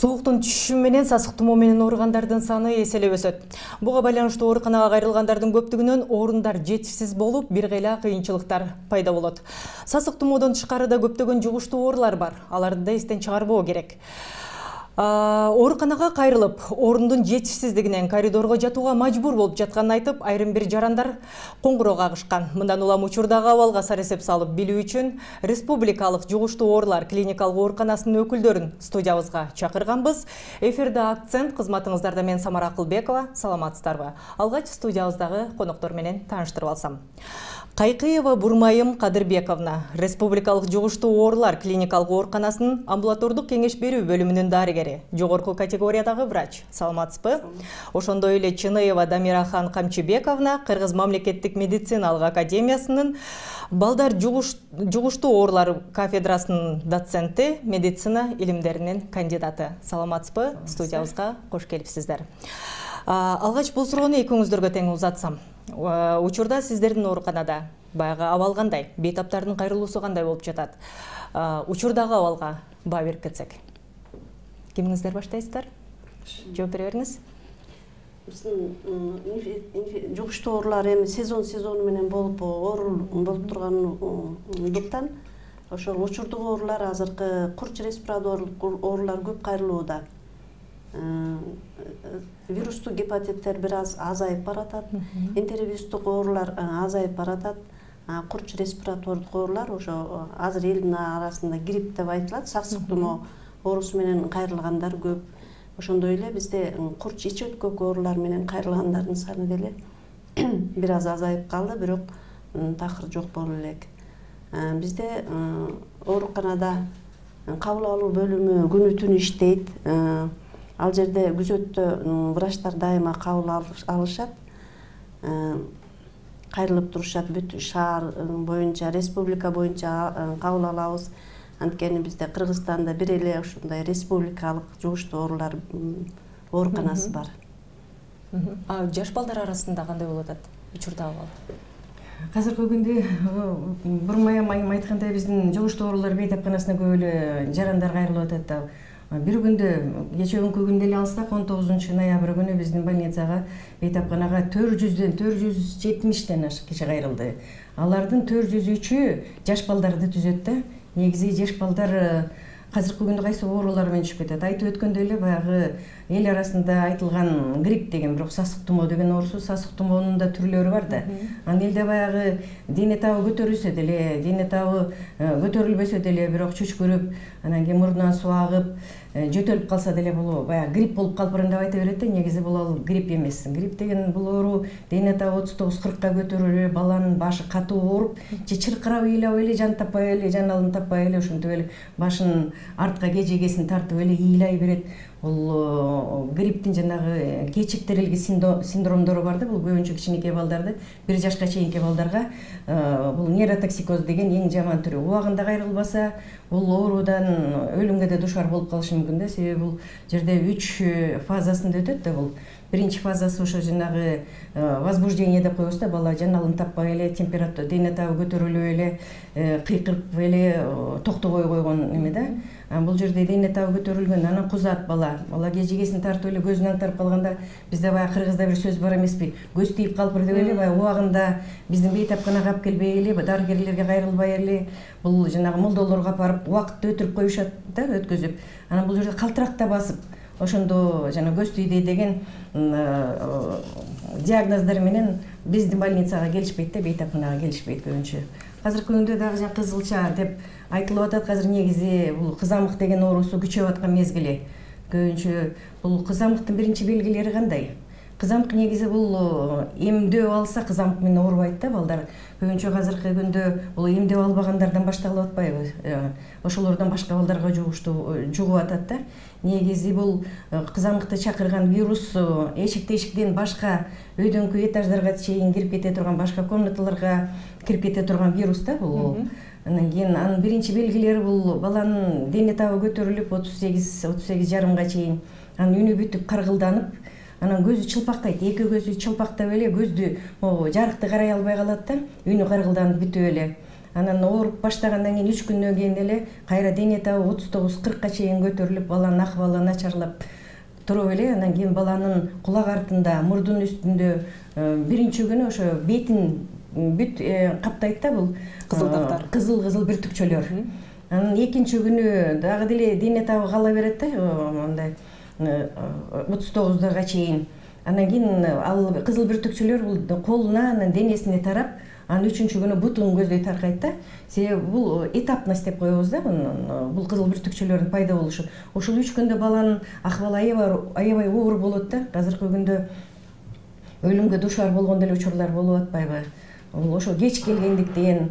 Сооктун түшүшү менен сасык тумоо менен ооругандардын саны эселеп өсөт. Буга байланыштуу ооруканага кайрылгандардын көптүгүнөн орундар жетишсиз болуп, бир кыйла кыйынчылыктар пайда болот. Сасык тумоодон тышкары да көптөгөн жугуштуу оорулар бар. Аларды да эстен чыгарбоо керек. Ооруканага кайрылып, орундун жетишсиздигинен коридорго жатууга мажбур болуп жатканын айтып, айрым бир жарандар коңгуроо кагышкан. Мындан улам учурдагы абалга саресеп салып билүү үчүн Республикалык жугуштуу оорулар клиникалык ооруканасынын өкүлдөрүн студиябызга чакырганбыз. Эфирде акцент кызматыңыздарда мен Самара Акылбекова. Саламатсыздарбы? Алгач студиябыздагы коноктор менен тааныштырып алсам. Кайкыева Бурмайым Кадырбековна, Республикалык жугуштуу оорулар клиникалык ооруканасынын амбулатордук кеңеш берүү бөлүмүнүн дарыгери, жогорку категориядагы врач. Саламатсызбы? Ошондой эле Чыныева Дамирахан Камчыбековна, Кыргыз мамлекеттик медициналык академиясынын балдар жугуштуу оорулар кафедрасынын доценти, медицина илимдеринин кандидаты. Саламатсызбы? Студиябызга кош келипсиздер. Алгач бул суроону экөөңүздөргө тең узатсам. Учурда сиздердин ооруканада баягы абал кандай, бейтаптардын кайрылуусу кандай болуп жатат? Учурдагы абалга баа берип кетсек. Кимиңиздер баштайсыздар? Жооп бере бериңиз. Биздин жугуштуу оорулар эми сезону менен болуп тургандыктан ошол учурдук оорулар азыркы курч респираторлук оорулар көп кайрылууда. Вирустук гепатиттер бир аз азайып баратат, энтеровирустук оорулар азайып баратат, курч респиратордук оорулар ошо азыр элдин арасында грипп деп айтылат, сасык тумоо оорусу менен кайрылгандар көп. Ошондой эле бизде курч ич өткөк оорулар менен кайрылгандардын саны деле бир аз азайып калды, бирок такыр жок боло элек. Бизде ооруканада кабыл алуу бөлүмү күнү түнү иштейт. Ал жерде күзөттө врачтар дайыма кабыл алышат, кайрылып турушат, бүт шаар боюнча, республика боюнча кабыл алабыз. Анткени бизде Кыргызстанда бир эле ошондой республикалык жугуштуу оорулар ооруканасы бар. Жаш балдар арасында кандай болуп атат учурдагы абал? Азыркы күндө Бурмайым айым айткандай биздин жугуштуу оорулар бейтапканасына көп эле жарандар кайрылып атат. Бир күндө кечээ күnkү күндө эле алсак 19 ноябрь күнү биздин больницага бейтапканага 470 ашык киши кайрылды. Алардын 403-ü жаш балдарды түзөт да. Негизи жаш балдар азыркы күндө кайсы оорулар менен түшүп кетет. Айтып өткөндөй эле баягы эл арасында айтылган грипп деген, бирок сасык тумоо деген оорусу, сасык тумоонун да түрлөрү бар да. Анан элде баягы дене табы көтөрүлсө деле, дене табы көтөрүлбөсө деле, бирок чүчкүрүп, анан кийин мурдунан суу агып, жөтөлүп калса деле бул баягы грипп болуп калыптырын деп айта берет да. Негизи бул ал грипп эмес. Грипп деген бул оору дене табы 39-40ка көтөрүлүп, баланын башы катуу ооруп, же чыркырап ыйлап эле жан таппай эле, жан алым таппай эле ошентип эле башын артка кежегесин тартып эле ыйлай берет. Бул грипптин жанагы кечиктирилги синдромдору бар да. Бул көбүнчө кичинекей балдарды, 1 жашка чейинки балдарга бул нейротоксикоз деген эң жаман түрү. Убагында кайрылбаса, бул оорудан өлүмгө да душар болуп калышы мүмкүн да. Себеби бул жерде 3 фазасында өтөт да бул. Биринчи фазасы ошо жанагы возбуждение деп коебуз да, бала жан алым таппай эле, температура, дене табы көтөрүлүп эле, кыйкырып эле токтобой койгон эме да. Бул жерде дене табы көтөрүлгөн, анан кузат бала. Бала кежегесин тартып эле көзүн аңтарып калганда, бизде баягы кыргызда бир сөз бар эмеспи? Көз тийип калыптыр деп эле баягы убагында биздин бейтапканага алып келбей эле, дарыгерлерге кайрылбай эле, бул жанагы молдолорго апарып убакытты өтүрүп коюшат да, өткөзүп. Анан бул жерде калтыракта басып, ошондо жана көз тийди деген диагноздор менен биздин больницага келишпейт да, бейтапканага келишпейт көбүнчө. Азыркы күндө дагы жана кызылча деп айтылып атат. Азыр негизи бул кызамык деген оорусу күчөп аткан мезгили. Көбүнчө бул кызамыктын биринчи белгилери кандай? Кызамык негизи бул эмдөө алса кызамык менен оорубайт да балдар. Көбүнчө азыркы күндө бул эмдөө албагандардан башталып атпайбы? Ошолордон башка балдарга жугуп атат да. Негизи бул кызамыкты чакырган вирус эшиктен башка өйдөңкү этаждарга чейин кирип кете турган, башка комнаталарга кирип кете турган вирус да бул. Анан кийин анын биринчи белгилери бул баланын дене табы көтөрүлүп 38-38,5га чейин, анан үнү бүтүп каргылданып, анан көзү чылпактайт, эки көзү чылпактап эле көздү жарыкты карай албай калат да, үнү каргылданып бүтүп эле. Анан ооруп баштагандан кийин 3 күндөн кийин эле кайра дене табы 39-40ка чейин көтөрүлүп, баланын акыбалы начарлап туруп эле, анан кийин баланын кулак артында, мурдунун үстүндө биринчи күнү ошо бетин бүт каптайт да бул кызылдактар, кызыл бүртүкчөлөр. Анан экинчи күнү дагы деле дене табы кала берет да, мындай 39-га чейин. Анан кийин ал кызыл бүртүкчөлөр бул колуна, анан денесине тарап, анан 3-күнү күнү бутун көздөй таркайт да. Себеби бул этапность деп коебуз да, бул кызыл бүртүкчөлөрдүн пайда болушу. Ошол 3 күндө баланын акыбалы аябай оор болот да. Азыркы күндө өлүмгө душар болгон деле учурлар болуп атпайбы? Ошо кеч келгендиктен,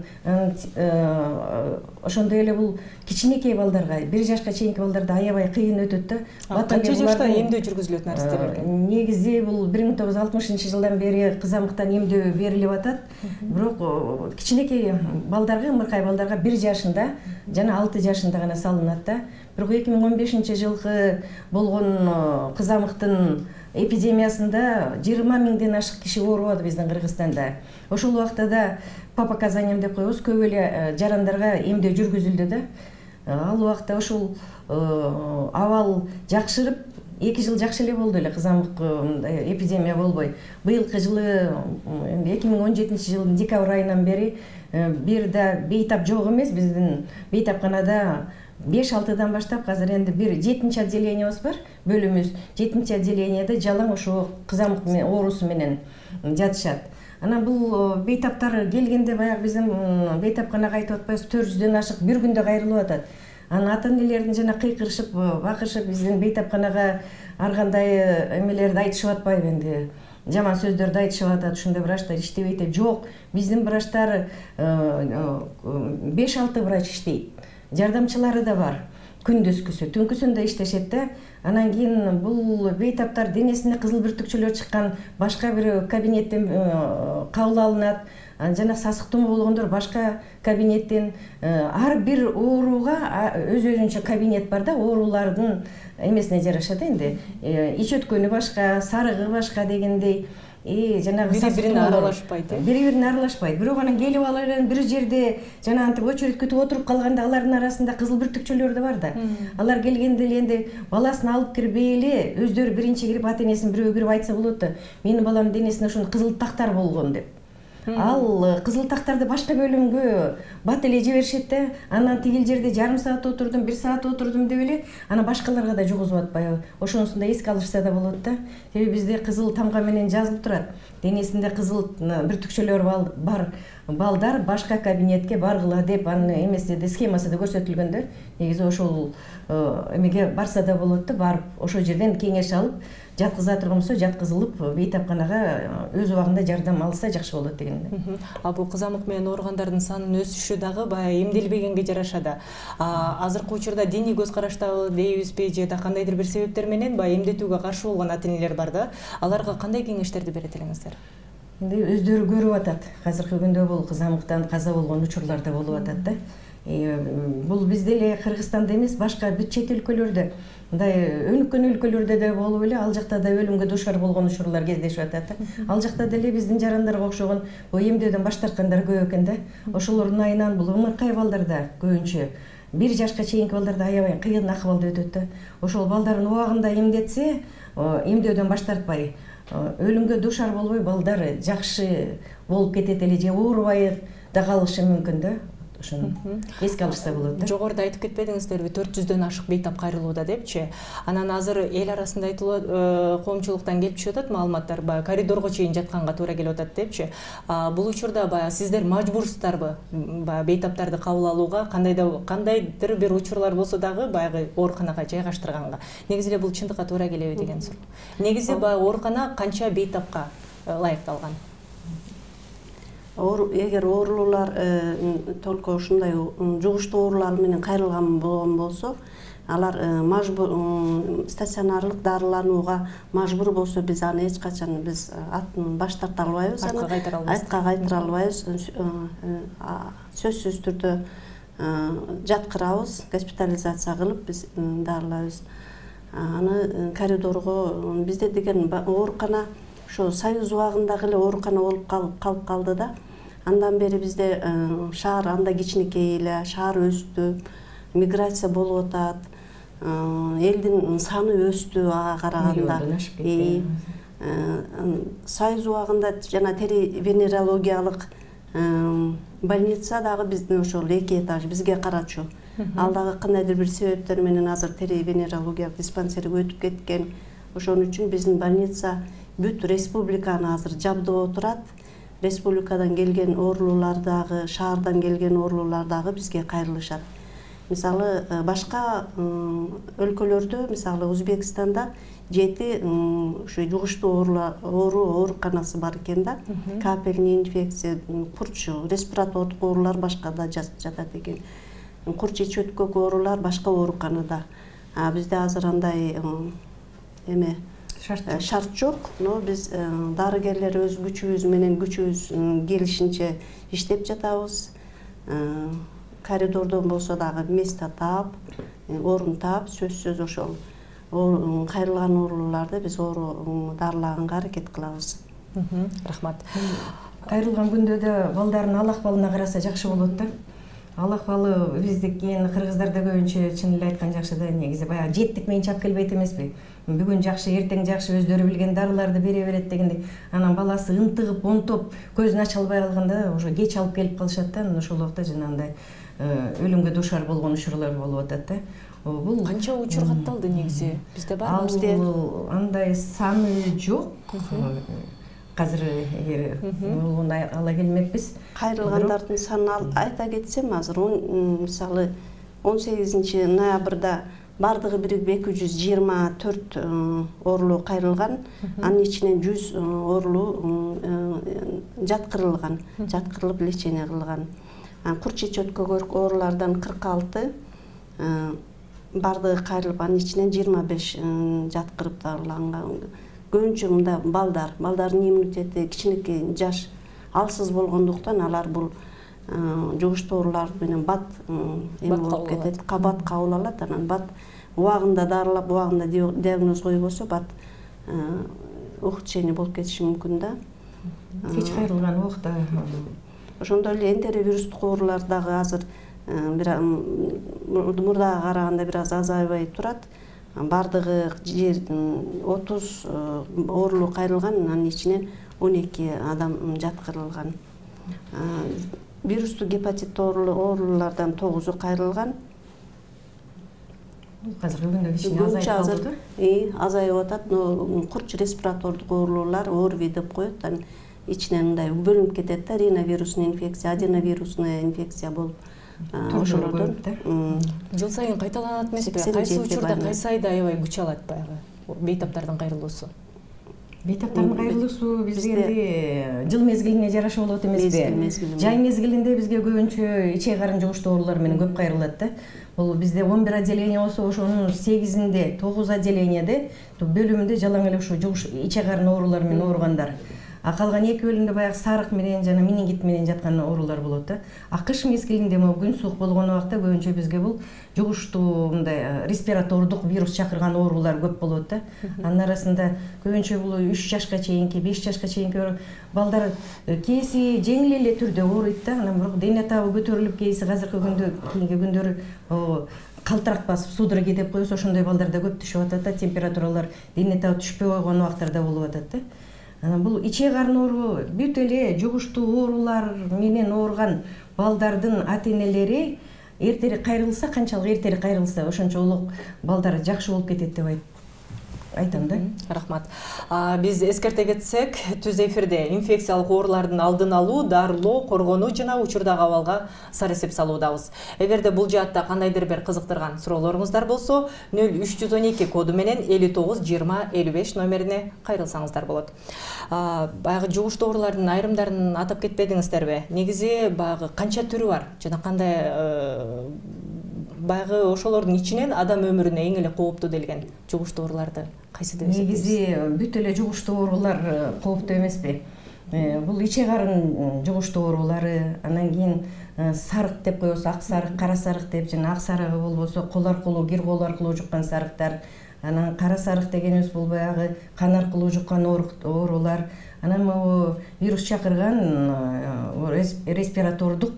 ошондой эле бул кичинекей балдарга, 1 жашка чейинки балдарда аябай кыйын өтөт да. Канча жашта эмдөө жүргүзүлөт нарстер экен? Негизи бул 1960-жылдан бери кызамыктан эмдөө берилип атат. Бирок кичинекей балдарга, ымыркай балдарга 1 жашында жана 6 жашында гана салынат да. Бирок 2015-жылкы болгон кызамыктын эпидемиясында 20 миңден ашык киши ооруп биздин Кыргызстанда. Ошол убакта да по показаниям деп коебуз, көп эле жарандарга эмдөө жүргүзүлдү да. Ал убакта ошол абал жакшырып, 2 жыл жакшы эле болду эле, кызамык эпидемия болбой. Быйылкы жылы 2017-жылдын декабрь айынан бери бир да бейтап жок эмес, биздин бейтапканада 5-6-дан баштап азыр энди бир 7-чи отделениябыз бар, бөлүмүбүз. 7-чи отделенияда жалаң ошо кызамык оорусу менен жатышат. Анан бул бейтаптар келгенде баягы биздин бейтапканага айтып атпайбыз, 400дөн ашык бир күндө кайрылып атат. Анан ата-энелердин жана кыйкырышып, бакырышып биздин бейтапканага ар кандай эмелерди айтышып атпайбы энди. Жаман сөздөрдү айтышып атат, ушундай врачтар иштебейт деп. Жок, биздин врачтар 5-6 врач иштейт. Жардамчылары да бар. Күндүзгүсү, түнкүсүн да иштешет да. Анан кийин бул бейтаптар денесине кызыл бүртүкчөлөр чыккан башка бир кабинеттен кабыл алынат. Жана сасык тумоо болгондор башка кабинеттен, ар бир ооруга өз-өзүнчө кабинет бар да, оорулардын эмесине жараша да энди. Ич өткөнү башка, сарыгы башка дегендей. Жанагы бири-бирине аралашпайт. Бири-бирине аралашпайт. Бирок анан келип алып бир жерде жана антип очередь күтүп отуруп калганда алардын арасында кызыл бүртүкчөлөр да бар да. Алар келгенде эле энди баласын алып кирбей эле өздөрү биринчи кирип, ата-энесин бирөө кирип айтса болот да. Менин баламдын денесине ошондой кызыл тактар болгон деп. Ал кызыл тактарды башка бөлүмгө бат эле жиберишет да. Анан тигил жерде жарым саат отурдум, 1 саат отурдум деп эле, анан башкаларга да жугузуп атпайбы. Ошонусун да эске алышса да болот да. Себеби бизде кызыл тамга менен жазылып турат. Денесинде кызыл бүртүкчөлөр бар балдар башка кабинетке баргыла деп анын эмесиде схемасында көрсөтүлгөн да. Негизи ошол эмеге барса да болот да, барып ошол жерден кеңеш алып, жаткыза турган болсо жаткызылып, бейтапканага өз убагында жардам алса жакшы болот деген. А бул кызамык менен ооругандардын санынын өсүшү дагы баягы эмделбегенге жараша да. Азыркы учурда диний көз караштабы дейбизби, же да кандайдыр бир себептер менен баягы эмдетүүгө каршы болгон ата-энелер бар да. Аларга кандай кеңештерди берет элеңиздер? Энди өздөрү көрүп атат. Азыркы күндө бул кызамыктан каза болгон учурлар да болуп атат да. Бул бизде эле Кыргызстанда эмес, башка бүт чет өлкөлөрдө, мындай өнүккөн өлкөлөрдө да болуп эле, ал жакта да өлүмгө душар болгон учурлар кездешип атат да. Ал жакта деле биздин жарандарга окшогон бул эмдөөдөн баш тарткандар көп экен да. Ошолордун айынан бул ымыркай балдарда көбүнчө 1 жашка чейинки балдарда аябай кыйын акыбалда өтөт да. Ошол балдарын убагында эмдетсе, эмдөөдөн баш тартпай, өлүмгө душар болбой балдар жакшы болуп кетет эле, же оорубай да калышы мүмкүн да. Ошону эске алышса болот да. Жогоруда айтып кетпедиңиздерби, 400дөн ашык бейтап кайрылууда депчи. Анан азыр эл арасында айтылат, коомчулуктан келип түшүп атат маалыматтар, баягы коридорго чейин жатканга туура келип атат депчи. Бул учурда баягы сиздер мажбурсуздарбы баягы бейтаптарды кабыл алууга, кандайдыр бир учурлар болсо дагы баягы ооруканага жайгаштырганга. Негизи эле бул чындыкка туура келеби деген суроо. Негизи баягы оорукана канча бейтапка ылайыкталган? Эгер оорулуулар только ушундай жугуштуу оорулар менен кайрылган болгон болсо, алар стационарлык дарыланууга мажбур болсо, биз аны эч качан аттан баш тарта албайбыз, артка кайтара албайбыз. Сөзсүз түрдө жаткырабыз, госпитализация кылып биз дарылайбыз. Аны коридорго бизде деген оорукана ошо Союз убагындагы эле оорукана болуп калып калды да. Андан бери бизде шаар анда кичинекей эле, шаар өстү, миграция болуп атат. Элдин саны өстү ага караганда. Союз убагында жана тери-венерологиялык больница дагы биздин ошол 2 этаж бизге карачу. Ал дагы кандайдыр бир себептер менен азыр тери-венерологиялык диспансерге өтүп кеткен. Ошон үчүн биздин больница бүт республиканы азыр жабдып отурат. Республикадан келген оорулуулар дагы, шаардан келген оорулуулар дагы бизге кайрылышат. Мисалы, башка өлкөлөрдө, мисалы Өзбекстанда 7 ушу жугуштуу ооруканасы бар экен да. Капельный инфекция, курч, респиратордук оорулар башкада жатат экен. Курч ич-өткөк оорулар башка ооруканада. Бизде азыр андай шарт жок, но биз дарыгерлер өз күчүбүз менен күчүбүз келишинче иштеп жатабыз. Коридордон болсо дагы место таап, орун таап, сөзсүз ошол кайрылган оорулууларды биз дарылаганга аракет кылабыз. Рахмат. Кайрылган күндө да балдардын ал акыбалына караса жакшы болот да. Ал акыбалы биздики кыргыздарда көбүнчө чын эле айткан жакшы да, негизи баягы жеттик менен чап келбейт эмеспи. Бүгүн жакшы, эртең жакшы, өздөрү билген дарыларды бере берет дегендей. Анан баласы ынтыгып, онтоп, көзүн ача албай калганда уже кеч алып келип калышат да. Ошол убакта жанагындай өлүмгө дуушар болгон учурлар болуп атат да. Бул канча учур катталды негизи? Бизде бар бизде андай саны жок. Азыр ала келмекпиз. Кайрылгандардын санын айта кетсем, азыр мисалы 18 ноябрда бардыгы 224 оорулуу кайрылган, анын ичинен 100 оорулуу жаткырылып лечение кылган. Курч ич-өткөк оорулардан 46 бардыгы кайрылып, анын ичинен 25 жаткырып дарыланган. Көбүнчө мында балдардын иммунитети кичинекей, жаш, алсыз болгондуктан алар бул жугуштуу оорулар менен бат болуп кетет, кабат кабыл алат. Анан бат убагында дарылап, убагында диагноз койбосо бат ухудшение болуп кетиши мүмкүн да. Кеч кайрылган убакта. Ошондой эле энтеровирустук оорулар дагы азыр мурдага караганда бир аз азайбай турат. Бардыгы 30 оорулуу кайрылган, анын ичинен 12 адам жаткырылган. Вирустук гепатит оорулардан 9 кайрылган. Азыркы күндө кичине азайып калды. Азайып атат, но курч респиратордук оорулуулар ОРВИ деп коет. Анын ичинен мындай бөлүнүп кетет да, риновирусный инфекция, аденовирусный инфекция болуп. Ошолордон жыл сайын кайталанат эмеспи? Кайсы учурда, кайсы айда аябай күч алат баягы бейтаптардын кайрылуусу? Бейтаптардын кайрылуусу бизде жыл мезгилине жараша болот эмеспи? Жай мезгилинде бизге көбүнчө ичек карын жугуштуу оорулар менен көп кайрылат да. Бул бизде 11 отделение болсо, ошонун 8-inde 9 отделениеде бөлүмүндө жалаң эле ушу ичек карын оорулар менен ооругандар. Калган 2 бөлүмдө баягы сарык менен жана менингит менен жаткан оорулар болот да. Кыш мезгилинде күн суук болгон убакта көбүнчө бизге бул жугуштуу мындай респиратордук вирус чакырган оорулар көп болот да. Анын арасында көбүнчө бул 3 жашка чейинки, 5 жашка чейинки балдар кээси жеңил эле түрдө ооруйт да. Анан бирок дене табы көтөрүлүп, кээси азыркы күндө кийинки күндөрү калтырак басып судороги деп коебуз, ошондой балдарда көп түшүп атат да. Температуралар дене табы түшпөй койгон убактарда болуп атат да. Анан бул ичек карын оору бүт эле жугуштуу оорулар менен ооруган балдардын ата-энелери эртерээк кайрылса, канчалык эртерээк кайрылса, ошончо улук балдар жакшы болуп кетет деп айтам да. Рахмат. Биз эскерте кетсек, түз эфирде инфекциялык оорулардын алдын алуу, дарылоо, коргонуу жана учурдагы абалга сар эсеп салуудабыз. Эгерде бул жаатта кандайдыр бир кызыктырган суроолоруңуздар болсо, 0312 коду менен 59 20 55 номерине кайрылсаңыздар болот. Баягы жугуштуу оорулардын айрымдарын атап кетпедиңиздерби? Негизи баягы канча түрү бар жана кандай баягы ошолордун ичинен адам өмүрүнө эң эле кооптуу делген жугуштуу ооруларды кайсы деп эсептейсиз? Негизи бүт эле жугуштуу оорулар кооптуу эмеспи? Бул ичек карын жугуштуу оорулары, анан кийин сарык деп коебуз, ак сарык, кара сарык деп, жана ак сарыгы болбосо кол аркылуу, кир кол аркылуу жуккан сарыктар, анан кара сарык дегенибиз бул баягы кан аркылуу жуккан оорулар, анан могу вирус чакырган респиратордук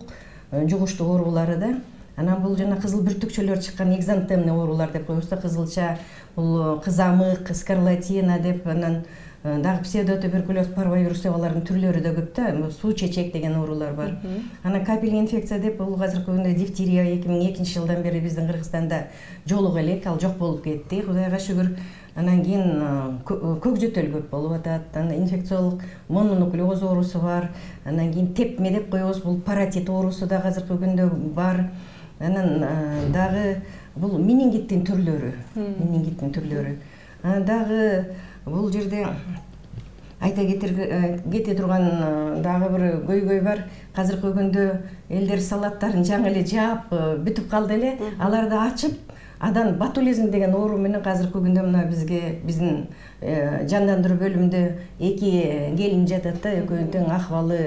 жугуштуу оорулары да. Анан бул жана кызыл бүртүкчөлөр чыккан экзантемный оорулар деп коебуз да, кызылча, бул кызамык, скарлатина деп, анан дагы псевдотуберкулез, парвовирус деп алардын түрлөрү да көп да, суу чечек деген оорулар бар. Анан капельный инфекция деп, бул азыркы күндө дифтерия 2002 жылдан бери биздин Кыргызстанда жолуга элек, ал жок болуп кетти, Кудайга шүгүр. Анан кийин көк жөтөл көп болуп атат, анан инфекциялык мононуклеоз оорусу бар, анан кийин тепме деп коебуз, бул паротит оорусу да азыркы күндө бар. Анан дагы бул менингиттин түрлөрү, Анан дагы бул жерде айта кете турган дагы бир көйгөй бар. Азыркы күндө элдер салаттарын жаңы эле жаап бүтүп калды эле, аларды ачып, адан ботулизм деген оору менен азыркы күндө мына биздин жандандыруу бөлүмүндө 2 келин жатат да, экөөнүн тең акыбалы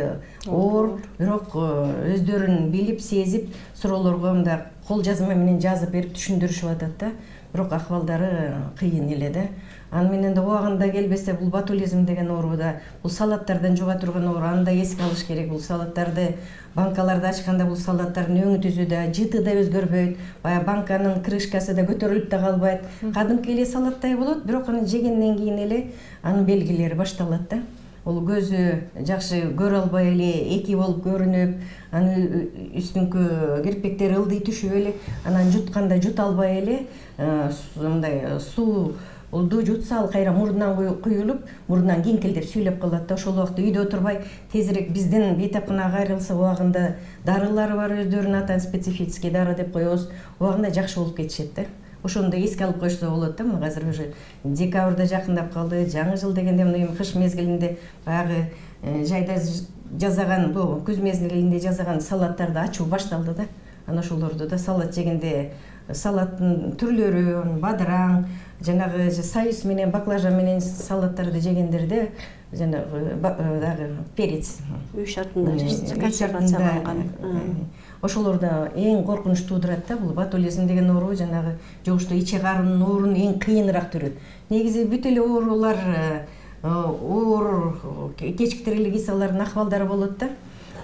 оор, бирок өздөрүн билип, сезип, суроолорго мындай кол жазма менен жазып берип түшүндүрүшүп атат да, бирок акыбалдары кыйын эле да. Аны менен да убагында келбесе, бул ботулизм деген оору да, бул салаттардан жуга турган оору, аны да эске алыш керек. Бул салаттарды, банкаларды ачканда бул салаттардын өңү түзү да, жыты да өзгөрбөйт, баягы банканын крышкасы да көтөрүлүп да калбайт. Кадимки эле салаттай болот, бирок аны жегенден кийин эле анын белгилери башталат да. Бул көзү жакшы көрө албай эле, эки болуп көрүнүп, анын үстүңкү кирпиктери ылдый түшүп эле, анан жутканда жута албай эле, мындай сууду жутса ал кайра мурдунан куюлуп, мурдунан кинкелдеп сүйлөп калат да. Ошол убакта үйдө отурбай тезирээк биздин бейтапканага кайрылса, убагында дарылары бар, өздөрүнүн атан специфический дары деп коебуз, убагында жакшы болуп кетишет да. Ошону да эске алып коюшса болот да. Мына азыр уже декабрда жакындап калды, жаңы жыл дегенде мына кыш мезгилинде баягы жайда жасаган, бул күз мезгилинде жасаган салаттарды ачуу башталды да. Анан ошолорду да салат жегенде, салаттын түрлөрү, бадыраң, жанагы союз менен, баклажан менен салаттарды жегендерде жанагы дагы перец, үй шартында консервацияланган, ошолорда эң коркунуч туудурат да. Бул ботулизм деген оору жанагы жугуштуу ичек арынын оорунун эң кыйыныраак түрү. Негизи бүт эле оорулар оор кечиктир эле кисалардын акыбалдары болот да.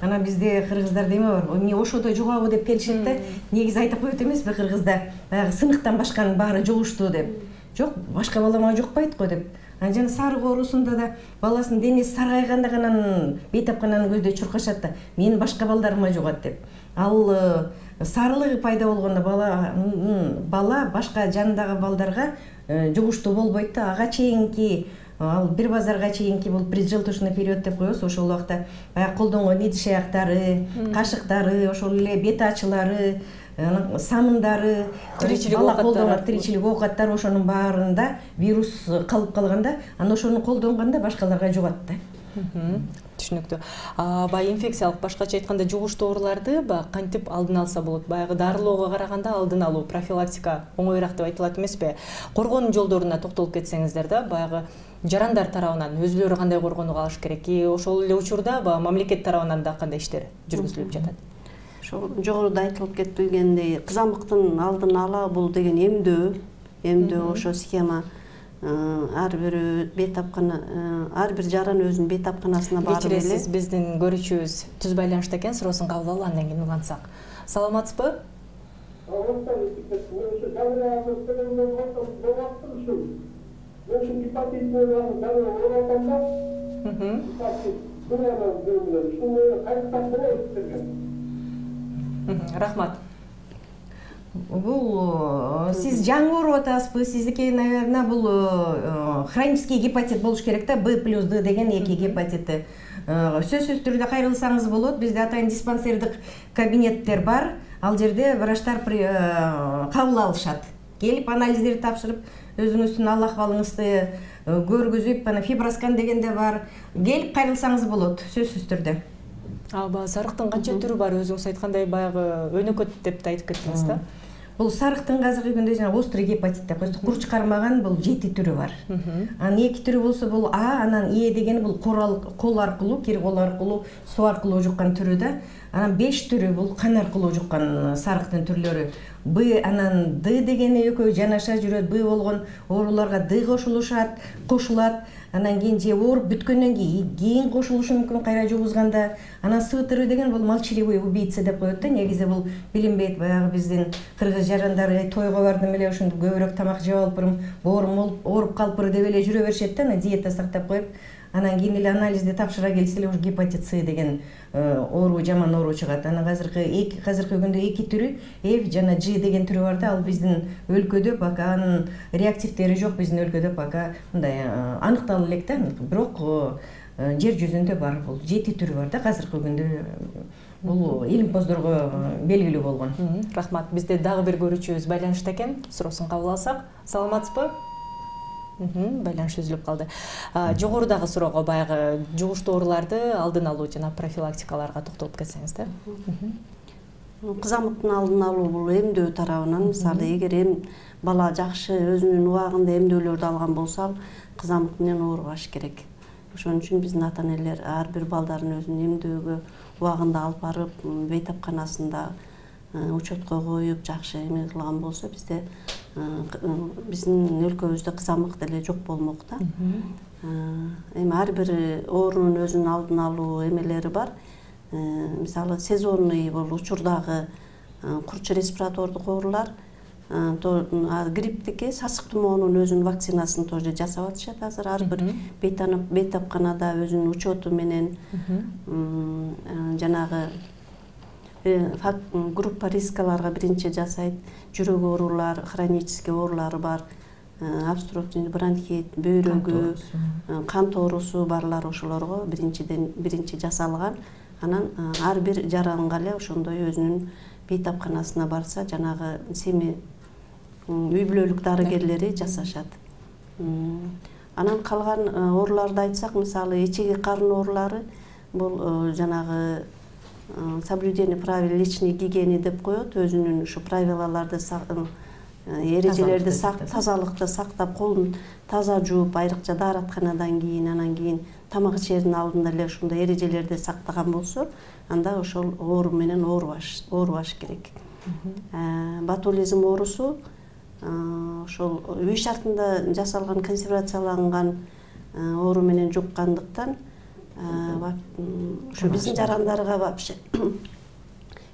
Анан бизде кыргыздарда эме бар, эмне ошодо жугабы деп келишет да. Негизи айтып коет эмеспи кыргызда, баягы сыныктан башканын баары жугуштуу деп. Жок, башка бала мага жукпайт го деп. Анан жана сарык оорусунда да баласынын денеси саргайганда гана бейтапкананы көздөй чуркашат да. Менин башка балдарыма жугат деп. Ал сарылыгы пайда болгондо бала башка жанындагы балдарга жугуштуу болбойт да. Ага чейинки, ал бир базарга чейинки бул преджелтушный период деп коебуз. Ошол убакта баягы колдонгон идиш аяктары, кашыктары, ошол эле бет ачылары, самындары, тиричилик оокаттар, ошонун баарында вирус калып калганда, анан ошону колдонгондо башкаларга жугат да. Түшүнүктүү. Баягы инфекциялык, башкача айтканда жугуштуу ооруларды кантип алдын алса болот? Баягы дарылоого караганда алдын алуу, профилактика оңоюраак деп айтылат эмеспи? Коргоонун жолдоруна токтолуп кетсеңиздер да, баягы жарандар тарабынан өзүлөрү кандай коргонууга алыш керек? Ошол эле учурда мамлекет тарабынан да кандай иштер жүргүзүлүп жатат? Ошол жогоруда айтылып кетилгендей, кызамыктын алдын ала бул деген эмдөө ошо схема. Ар бир бейтапкана, ар бир жаран өзүнүн бейтапканасына барып эле. Кечиресиз, биздин көрүүчүбүз түз байланышта экен, суроосун кабыл алып андан кийин улантсак. Саламатсызбы? Рахмат. Бул сиз жаңы ооруп атасызбы? Сиздики, наверное, бул хронический гепатит болуш керек да, Б плюс Д деген 2 гепатиты. Сөзсүз түрдө кайрылсаңыз болот. Бизде атайын диспансердик кабинеттер бар. Ал жерде врачтар кабыл алышат. Келип анализдерди тапшырып, өзүңүздүн ал акыбалыңызды көргүзүп, ана фиброскан дегенде бар. Келип кайрылсаңыз болот, сөзсүз түрдө. Сарыктын канча түрү бар? Өзүңүз айткандай баягы өнөкөт деп да айтып кеттиңиз да. Бул сарыктын азыркы күндө жана острый гепатит деп коебуз. Курч кармаган бул 7 түрү бар. Анын 2 түрү болсо бул А, анан Е дегени бул кол аркылуу, кир кол аркылуу, суу аркылуу жуккан түрү да. Анан 5 түрү бул кан аркылуу жуккан сарыктын түрлөрү. Б анан Д дегени экөө жанаша жүрөт. Б болгон ооруларга Д кошулат. Анан кийин же ооруп бүткөндөн кийин кошулушу мүмкүн кайра жугузганда. Анан С түрү деген бул молчаливый убийца деп коет да. Негизи бул билинбейт. Баягы биздин кыргыз жарандары тойго бардым эле ошондо көбүрөөк тамак жеп алыппырым, ооруп калыппыр деп эле жүрө беришет да. Анан диета сактап коюп, анан кийин эле анализди тапшыра келсе эле ушу гепатит С деген оору, жаман оору чыгат. Анан азыркы күндө 2 түрү F жана G деген түрү бар да. Ал биздин өлкөдө пока анын реактивдери жок, биздин өлкөдө пока мындай аныкталып элек да. Бирок жер жүзүндө бар бул 7 түрү бар да азыркы күндө. Бул илимпоздорго белгилүү болгон. Рахмат. Бизде дагы бир көрүүчүбүз байланышта экен. Суроосун кабыл алсак. Саламатсызбы? Байланыш үзүлүп калды. Жогорудагы суроого баягы жугуштуу ооруларды алдын алуу жана профилактикаларга токтолуп кетсеңиз да. Кызамыктын алдын алуу бул эмдөө тарабынан, мисалы эгер бала жакшы өзүнүн убагында эмдөөлөрдү алган болсо, ал кызамык менен оорубаш керек. Ошон үчүн биздин ата-энелер ар бир балдарын өзүнүн эмдөөгө убагында алып барып, бейтапканасында учетко коюп, жакшы эме кылган болсо, биздин өлкөбүздө кызамык деле жок болмок да. Эми ар бир оорунун өзүнүн алдын алуу эмелери бар. Мисалы сезонный бул учурдагы курч респиратордук оорулар, грипптики, сасык тумоонун өзүнүн вакцинасын тоже жасап атышат азыр. Ар бир бейтапканада өзүнүн учету менен жанагы группа рискаларга биринчи жасайт. Жүрөк оорулар, хронический оорулары бар, обструктивный бронхит, бөйрөгү, кан тоорусу барлар ошолорго биринчи жасалган. Анан ар бир жаранга эле ошондой өзүнүн бейтапканасына барса, жанагы семи үй бүлөлүк дарыгерлери жасашат. Анан калган ооруларды айтсак, мисалы эчеги карын оорулары, бул жанагы соблюдение правил личной гигиены деп коет. Өзүнүн ушу правилаларды, эрежелерди тазалыкты сактап, колун таза жууп, айрыкча дааратканадан кийин, анан кийин тамак ичердин алдында эле ушундай эрежелерди сактаган болсо, анда ошол оору менен оорубаш керек. Ботулизм оорусу ошол үй шартында жасалган, консервацияланган оору менен жуккандыктан ушу биздин жарандарга вообще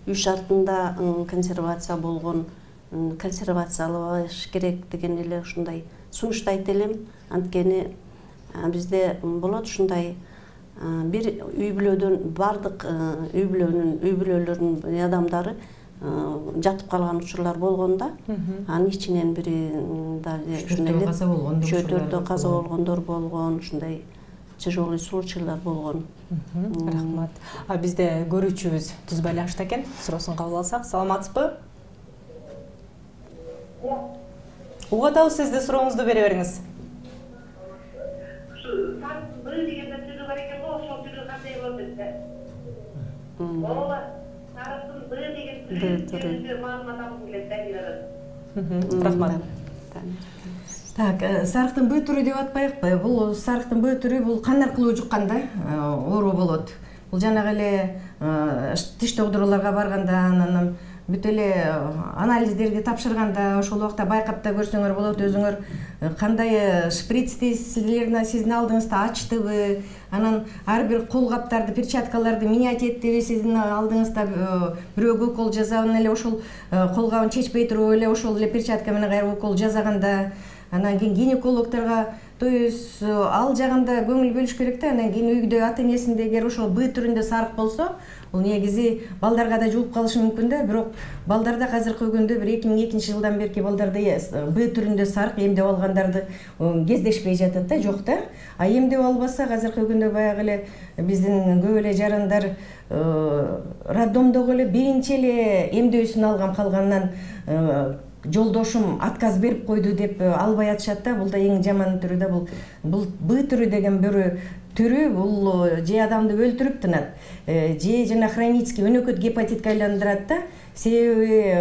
үй шартында консервация болгон, консервациялаш керек деген эле ушундай сунуштайт элем. Анткени бизде болот ушундай бир үй бүлөдөн бардык үй бүлөлөрдүн адамдары жатып калган учурлар болгон да. Анын ичинен бири чөтөрдө каза болгондор болгон, ушундай тяжелый случайлар болгон. Рахмат. Бизде көрүүчүбүз түз байланышта экен. Суроосун кабыл алсак. Саламатсызбы? Угуп атабыз, сизди сурооңузду бере бериңиз. Б деген түрү бар экен го, ошол түрү кандай болот депти. Ооба, сарыктын Б деген түрү маалымат алгым келет да. Рахмат. Так, сарыктын Б түрү деп атпайыкпы? Бул сарыктын Б түрү бул кан аркылуу жукканда оору болот. Бул жанагы эле тиш доктурларга барганда, анан бүт эле анализдерди тапшырганда ошол убакта байкап да көрсөңөр болот. Өзүңөр кандай шприцти сиздин алдыңызда ачтыбы, анан ар бир кол каптарды, перчаткаларды менять эттиби сиздин алдыңызда, бирөө укол жасабын эле ошол кол кабын чечпей туруп эле ошол эле перчатка менен кайра укол жасаганда, анан кийин гинекологторго, то есть ал жагында көңүл бөлүш керек да. Анан кийин үйдө ата-энесинде эгер ошол Б түрүндө сарык болсо, бул негизи балдарга да жугуп калышы мүмкүн да. Бирок балдарда азыркы күндө бир 2002 жылдан берки балдарда Б түрүндө сарык эмдеп алгандарды кездешпей жатат да, жок да. А эмдеп албасак азыркы күндө баягы эле биздин көп эле жарандар роддомдогу эле биринчи эле эмдөөсүн алган, калганынан жолдошум отказ берип койду деп албай атышат да. Бул да эң жаман түрү да. Бул Б түрү деген бир түрү, бул же адамды өлтүрүп тынат, же жана хронический өнөкөт гепатитке айландырат да. себеби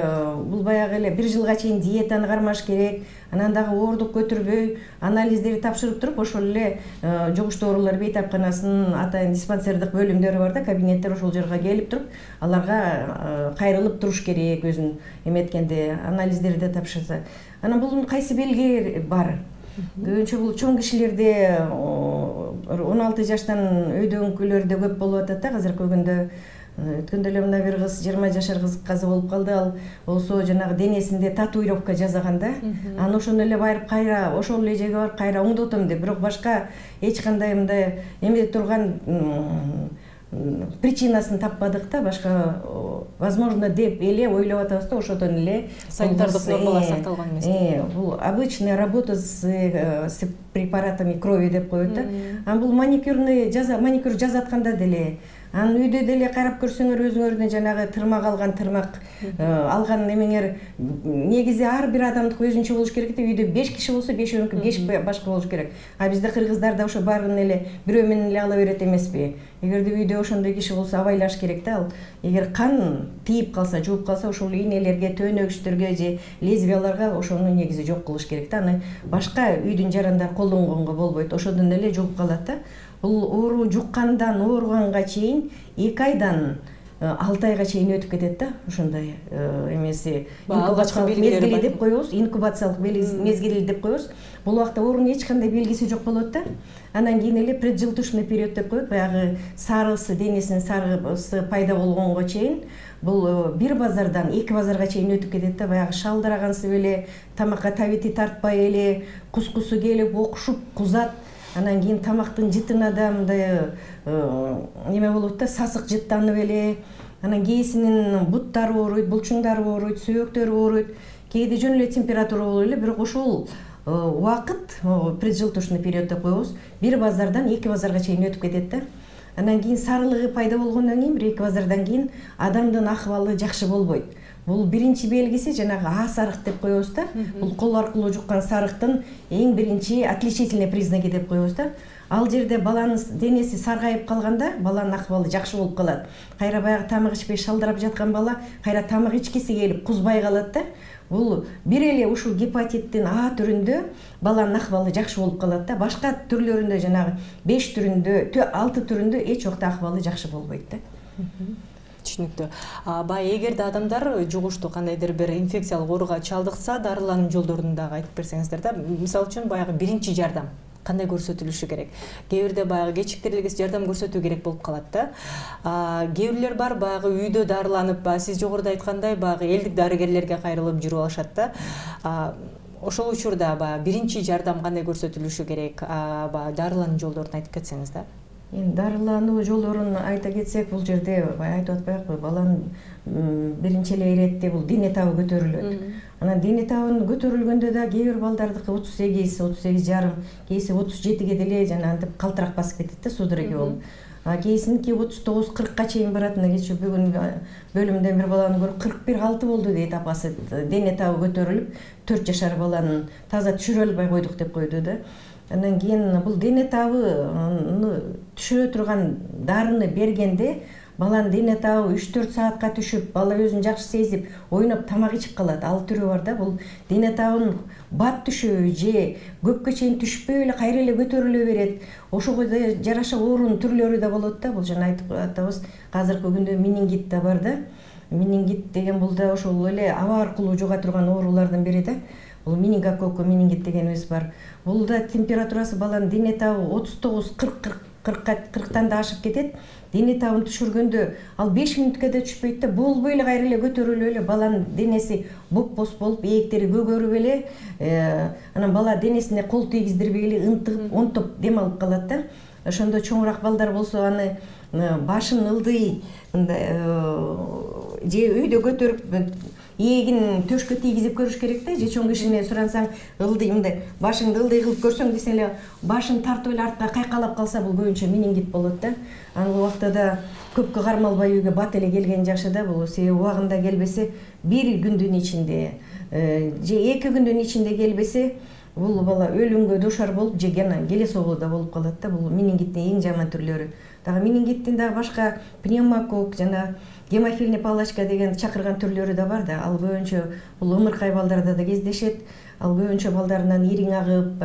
бул баягы эле 1 жылга чейин диетаны кармаш керек, анан дагы оордук көтөрбөй анализдерди тапшырып туруп ошол эле жугуштуу оорулар бейтапканасынын атайын диспансердик бөлүмдөрү бар да, кабинеттер, ошол жерге келип туруп аларга кайрылып туруш керек, өзүн эметкенде анализдерди тапшырса. Анан бул кайсы белги бар? Көбүнчө бул чоң кишилерде 16 жаштан өйдөнгүлөрдө көп болуп атат да азыркы күндө. Өткөндө эле мына бир кыз 20 жашар кыз каза болуп калды. Ал болсо жанагы денесинде татуировка жасаган да. Аны ошону эле барып кайра ошол эле жерге барып кайра оңдотом деп, бирок башка эч кандай мындай эме турган причинасын таппадык да, башка возможно деп эле ойлоп атабыз да, ошодон эле санитардык нормалар сакталган эмес. Бул обычная работа с препаратами крови деп коет да. Анан бул маникюр жасатканда деле, анан үйдө деле карап көрсөңөр өзүңөрдүн жанагы тырмак алган эмеңер негизи ар бир адамдык өзүнчө болуш керек да. Үйдө 5 киши болсо 5-өнүкү 5 башка болуш керек. А бизде кыргыздарда ошо баарын эле бирөө менен эле ала берет эмеспи? Эгерде үйдө ошондой киши болсо абайлаш керек да. Ал эгер кан тийип калса, жууп калса, ошол ийнелерге, төөнөгүчтөргө же лезвияларга ошону негизи жок кылыш керек да. Аны башка үйдүн жарандары колдонгонго болбойт, ошодон эле жууп калат да. Бул оору жуккандан ооруганга чейин 2 айдан 6 айга чейин өтүп кетет да. Ошондой эмеси инкубациялык мезгили деп коебуз, инкубациялык мезгили деп коебуз. Бул убакта оорунун эч кандай белгиси жок болот да. Анан кийин эле преджелтушный период деп коет, баягы сарысы, денесинин сарысы пайда болгонго чейин бул 1 базардан 2 базарга чейин өтүп кетет да. Баягы шалдырагансып эле, тамакка табити тартпай эле, кускусу келип окушуп кузат. Анан кийин тамактын жытына да мындай неме болот да, сасык жыттанып эле. Анан кээсинин буттары ооруйт, булчуңдары ооруйт, сөөктөрү ооруйт. Кээде жөн эле температура болуп эле, бирок ушул убакыт преджелтушный период деп коебуз, 1 базардан 2 базарга чейин өтүп кетет да. Анан кийин сарылыгы пайда болгондон кийин 1-2 базардан кийин адамдын акыбалы жакшы болбойт. Бул биринчи белгиси жанагы А сарык деп коебуз да. Бул кол аркылуу жуккан сарыктын эң биринчи отличительный признаки деп коебуз да. Ал жерде баланын денеси саргайып калганда, баланын акыбалы жакшы болуп калат. Кайра баягы тамак ичпей шалдырап жаткан бала кайра тамак ичкиси келип кузбай калат да. Бул бир эле ушул гепатиттин А түрүндө баланын акыбалы жакшы болуп калат да. Башка түрлөрүндө жанагы 5 түрүндө, 6 түрүндө эч убакта акыбалы жакшы болбойт да. Түшүнүктүү. Бай эгерде адамдар жугуштуу кандайдыр бир инфекциялык ооруга чалдыкса, дарылануу жолдорун дагы айтып берсеңиздер да. Мисалы үчүн баягы биринчи жардам кандай көрсөтүлүшү керек? Кээ бирде баягы кечиктирилгис жардам көрсөтүү керек болуп калат да. Кээ бирлер бар баягы үйдө дарыланып, сиз жогоруда айткандай баягы элдик дарыгерлерге кайрылып жүрүп алышат да. Ошол учурда баягы биринчи жардам кандай көрсөтүлүшү керек? Баягы дарылануу жолдорун айтып кетсеңиз да. Дарылануу жолдорун айта кетсек, бул жерде айтып атпайбы, баланын биринчи эле иретте бул дене табы көтөрүлөт. Анан дене табынын көтөрүлгөндө да кээ бир балдардыкы 38, 38,5, кээси 37ге деле жана антип калтырак басып кетет да, судороги болуп. Кээсиники 39, 40ка чейин барат. Кечээ бүгүн бөлүмдөн бир баланы көрүп 41-6 болду дейт апасы. Дене табы көтөрүлүп 4 жашар баланы таза түшүрө албай койдук деп койду да. Андан кийин бул дене табыны түшүрө турган дарыны бергенде баланын дене табы 3-4 саатка түшүп, бала өзүн жакшы сезип, ойноп тамак ичип калат. Ал түрү бар да. Бул дене табынын бат түшөбү же көпкө чейин түшпөй эле кайра эле көтөрүлө берет. Ошого жараша оорунун түрлөрү да болот да. Бул жана айтып атабыз, азыркы күндө менингит да бар да. Менингит деген бул да ошол эле аба аркылуу жуга турган оорулардын бири да. Бул менингококк менингит дегенибиз бар. Бул да температурасы баланын дене табы 39-40-40тан да ашып кетет. Дене табын түшүргөндө ал 5 мүнөткө да түшпөйт да. Болбой эле кайра эле көтөрүлүп эле баланын денеси боп-боз болуп, ээктери көгөрүп эле, анан бала денесине кол тийгиздирбей эле ынтыгып, онтоп дем алып калат да. Ошондо чоңураак балдар болсо аны башын ылдый же үйдө көтөрүп эгин төшкө тийгизип көрүш керек да. Же чоң кишине сурансаң, ылдый мындай башыңды ылдый кылып көрсөң десең эле башын тартып эле артка кайкалап калса, бул көбүнчө менингит болот да. Ал убакта да көпкө кармалбай үйгө бат эле келген жакшы да. Бул себеби убагында келбесе 1 күндүн ичинде же 2 күндүн ичинде келбесе бул бала өлүмгө дуушар болуп же келе согууда болуп калат да. Бул менингиттин эң жаман түрлөрү. Дагы менингиттин дагы башка пневмокок жана гемофильный палочка деген чакырган түрлөрү да бар да. Ал көбүнчө бул ымыркай балдарда да кездешет. Ал көбүнчө балдарынан ириң агып,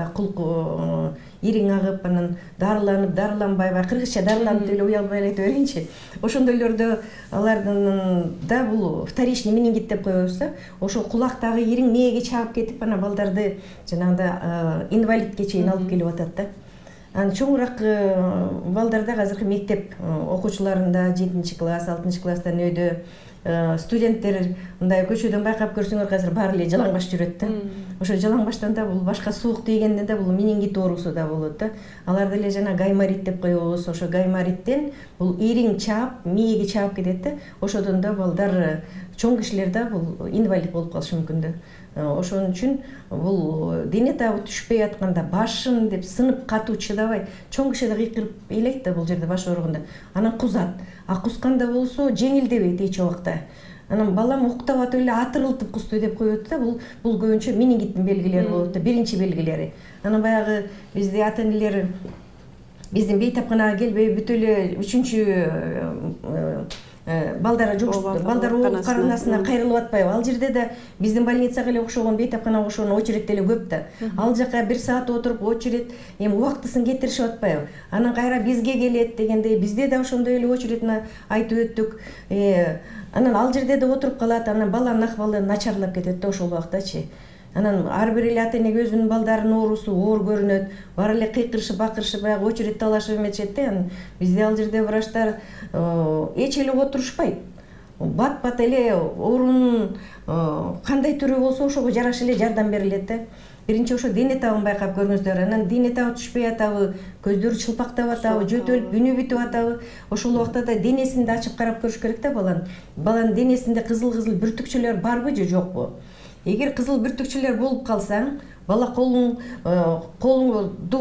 ириң агып, анан дарыланып, дарыланбай, кыргызча дарыланып деле уялбай айта берейинчи. Ошондойлордо алардын да бул вторичный менингит деп коебуз да. Ошо кулактагы ириң мээге чаап кетип, анан балдарды жанагындай инвалидке чейин алып келип атат да. Анан чоңураак балдарда азыркы мектеп окуучуларында 7-класс, 6-класстан өйдө студенттер мындай көчөдөн байкап көрсөңөр азыр баары эле жалаңбаш жүрөт да. Ошо жалаңбаштан да бул башка суук тийгенден да бул менингит оорусу да болот да. Аларды эле жана гайморит деп коебуз. Ошо гаймориттен бул ириң чаап, мээге чаап кетет да. Ошодон да балдар, чоң кишилер да бул инвалид болуп калышы мүмкүн да. Ошон үчүн бул дене табы түшпөй атканда башым деп сынып катуу чыдабай, чоң киши да кыйкырып ыйлайт да бул жерде баш ооруганда. Анан кузат. Кусканда болсо жеңилдебейт эч убакта. Анан балам уктап атып эле атырылтып кусту деп коет да. Бул көбүнчө менингиттин белгилери болот да, биринчи белгилери. Анан баягы бизде ата-энелер биздин бейтапканага келбей бүт эле 3-чү балдар оокубканасына кайрылып атпайбы? Ал жерде да биздин больницага эле окшогон, бейтапканага окшогон очередь деле көп да. Ал жака 1 саат отуруп очередь эми убактысын кетиришип атпайбы? Анан кайра бизге келет дегендей бизде да ошондой эле очередьни айтып өттүк. Анан ал жерде да отуруп калат, анан баланын акыбалы начарлап кетет да ошол убактачы. Анан ар бир эле ата-энеге өзүнүн балдарынын оорусу оор көрүнөт. Баары эле кыйкырышып, бакырышып, баягы очередь талашып эметишет да. Бизде ал жерде врачтар эч эле отурушпайт. Бат-бат эле оорунун кандай түрү болсо ошого жараша эле жардам берилет да. Биринчи ошо дене табын байкап көрүңүздөр. Анан дене табы түшпөй атабы, көздөрү чылпактап атабы, жөтөлүп, күнү бүтүп атабы, ошол убакта да денесин да ачып карап көрүш керек да баланын. Баланын денесинде кызыл-кызыл бүртүкчөлөр барбы же жокпу? Эгер кызыл бүртүкчөлөр болуп калсаң, бала колуңду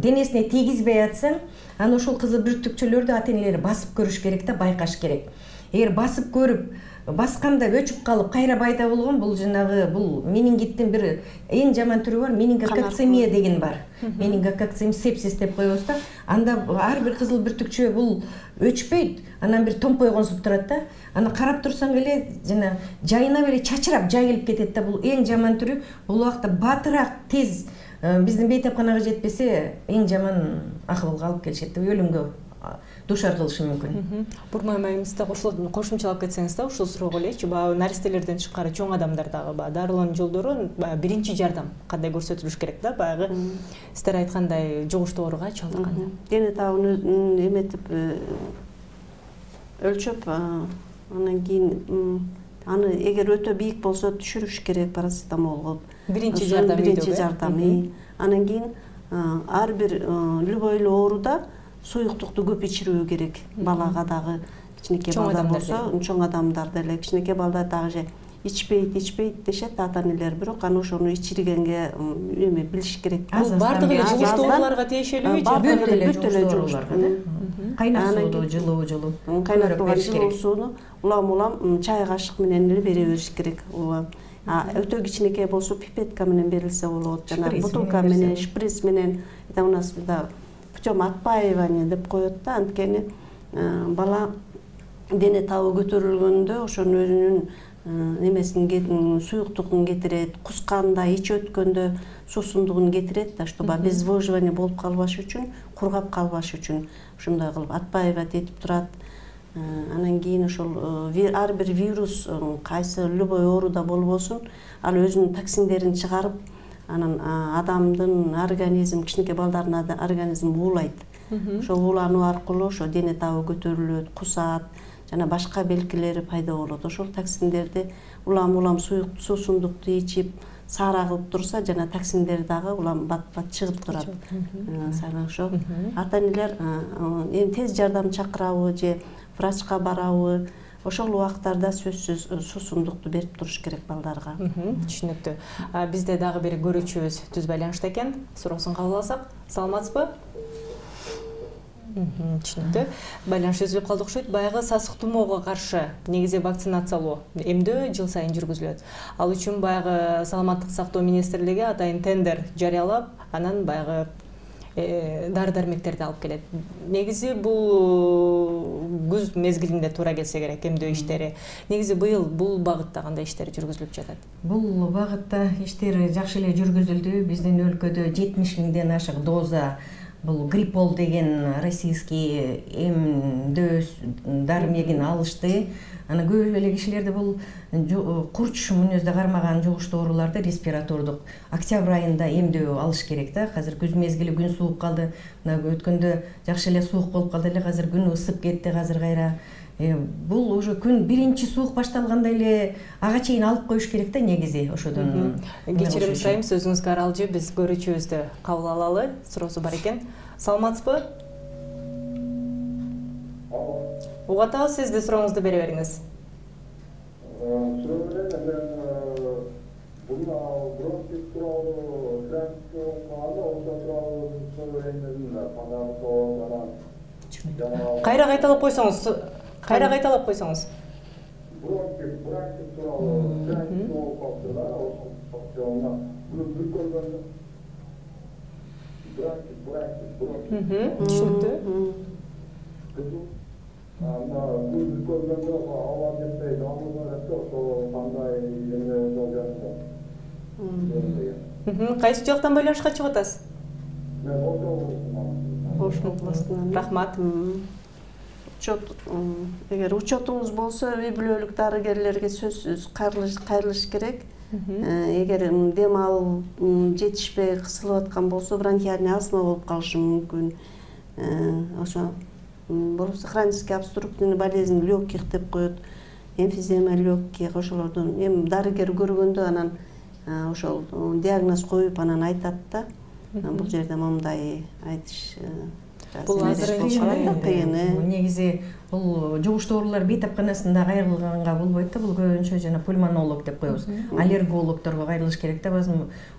денесине тийгизбей атсаң, анан ошол кызыл бүртүкчөлөрдү ата-энелери басып көрүш керек да, байкаш керек. Эгер басып көрүп, басканда өчүп калып, кайра пайда болгон бул жанагы бул менингиттин бир эң жаман түрү бар, менингококцемия деген бар. Менингококцемия сепсис деп коебуз да. Анда ар бир кызыл бүртүкчө бул өчпөйт, анан бир томпой консуп турат да. Аны карап турсаң эле жана жайына эле чачырап жайылып кетет да. Бул эң жаман түрү. Бул убакта батыраак тез биздин бейтапканага жетпесе, эң жаман акыбалга алып келишет да, өлүмгө дуушар кылышы мүмкүн. Бурмай майымызда кошумчалап кетсеңиз да ушул суроого элечи, баягы наристелерден тышкары чоң адамдардагы баягы дарылануу жолдору, баягы биринчи жардам кандай көрсөтүлүш керек да, баягы сиздер айткандай жугуштуу ооруга чалдыкканда. Дене табын эметип өлчөп, анан кийин аны эгер өтө бийик болсо түшүрүш керек парацетамол кылып. Биринчи жардам. Анан кийин ар бир любой эле ооруда суюктукту көп ичирүү керек. Балага дагы кичинекей балдар болсо, чоң адамдар деле кичинекей балдар дагы же ичпейт дешет ата-энелер, бирок аны ошону ичиргенге эме билиш керек. Бул бардыгы эле жугуштуу ооруларга тиешелүүбү же бүт эле жугуштуу ооруларга? Кайнак сууну жылуу кайнатылган жылуу сууну улам чай кашык менен эле бере бериш керек. Өтө кичинекей болсо пипетка менен берилсе болот, жана бутылка менен, шприц менен. Это у нас путем отпаивания деп коет да, анткени бала дене табы көтөрүлгөндө ошонун өзүнүн эмесин суюктугун кетирет, кусканда, ич өткөндө суусундугун кетирет да, чтобы обезвоживание болуп калбаш үчүн, кургап калбаш үчүн ушундай кылып отпаивать этип турат. Анан кийин ошол ар бир вирус кайсы любой ооруда болбосун, ал өзүнүн токсиндерин чыгарып, анан адамдын организм, кичинекей балдардын организм уулайт. Ошол уулануу аркылуу ошо дене табы көтөрүлөт, кусат, жана башка белгилери пайда болот. Ошол токсиндерди улам суусундукту ичип, саара кылып турса, жана токсиндер дагы улам бат-бат чыгып турат. Ошо ата-энелер эми тез жардам чакырабы же врачка барабы, ошол убактарда сөзсүз суусундукту берип туруш керек балдарга. Түшүнүктүү. Бизде дагы бир көрүүчүбүз түз байланышта экен. Суроосун кабыл алсак, саламатсызбы? Түшүнүктүү. Байланыш үзүлүп калды окшойт. Баягы сасык тумоого каршы негизи вакцинациялоо эмдөө жыл сайын жүргүзүлөт. Ал үчүн баягы саламаттык сактоо министрлиги атайын тендер жарыялап, анан баягы дары-дармектерди алып келет. Негизи бул күз мезгилинде туура келсе керек эмдөө иштери. Негизи быйыл бул багытта кандай иштер жүргүзүлүп жатат? Бул багытта иштер жакшы эле жүргүзүлдү. Биздин өлкөдө 70 миңден ашык доза бул Гриппол деген российский эмдөө дармегин алышты. Аны көп эле кишилерди бул курч мүнөздө кармаган жугуштуу ооруларды респиратордук октябрь айында эмдөө алыш керек да. Азыр күз мезгили, күн сууп калды. Мына өткөндө жакшы эле суук болуп калды эле, азыр күн ысып кетти, азыр кайра. Бул уже күн биринчи суук башталганда эле ага чейин алып коюш керек да негизи ошодон. Кечирим сурайм, сөзүңүзгө аралжы, биз көрүүчүбүздү кабыл алалы. Суроосу бар экен. Саламатсызбы? Угат атабыз, сизди сурооңузду бере бериңиз. Кайра кайталап койсоңуз. Түшүнүктүү. Кайсы жактан байланышка чыгып атасыз? Рахмат. Эгер учетуңуз болсо, үй бүлөлүк дарыгерлерге сөзсүз кайрылыш керек. Эгер дем алуу жетишпей кысылып аткан болсо, бронхиальный астма болуп калышы мүмкүн. Ошо болбосо хронический обструктивный болезнь легких деп коет, эмфизема легких, ошолордун эми дарыгер көргөндө анан ошол диагноз коюп анан айтат да. Бул жерде мындай айтыш бул азыр негизи бул жугуштуу оорулар бейтапканасында кайрылганга болбойт да. Бул көбүнчө жана пульмонолог деп коебуз. Аллергологторго кайрылыш керек да.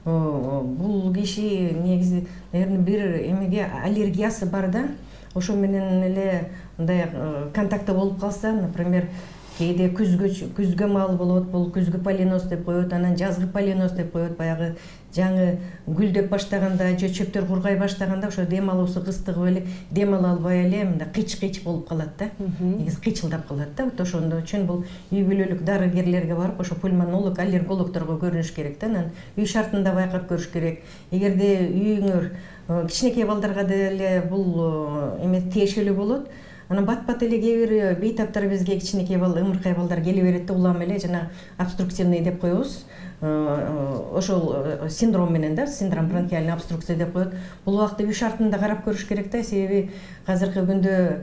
Бул киши негизи бир эмеге аллергиясы бар да. Ошо менен эле мындай контактта болуп калса, например, кээде күзгө мал болот, бул күзгү полиноз деп коет, анан жазгы полиноз деп коет. Баягы жаңы гүлдөп баштаганда же чөптөр кургай баштаганда ошо дем алуусу кыстыгып эле, дем ала албай эле мындай кыч болуп калат да. Негизи кычылдап калат да. Ошондо үчүн бул үй бүлөлүк дарыгерлерге барып, ошо пульмонолог, аллергологторго көрүнүш керек да. Анан үй шартында байкап көрүш керек. Эгерде үйүңөр кичинекей балдарга деле бул эме тиешелүү болот. Анан бат эле кээ бир бейтаптар бизге кичинекей ымыркай балдар келе берет да, улам эле жана обструктивный деп коебуз. Ошол синдром менен да, синдром бронхиальной обструкция деп коет. Бул убакта үй шартында карап көрүш керек да, себеби азыркы күндө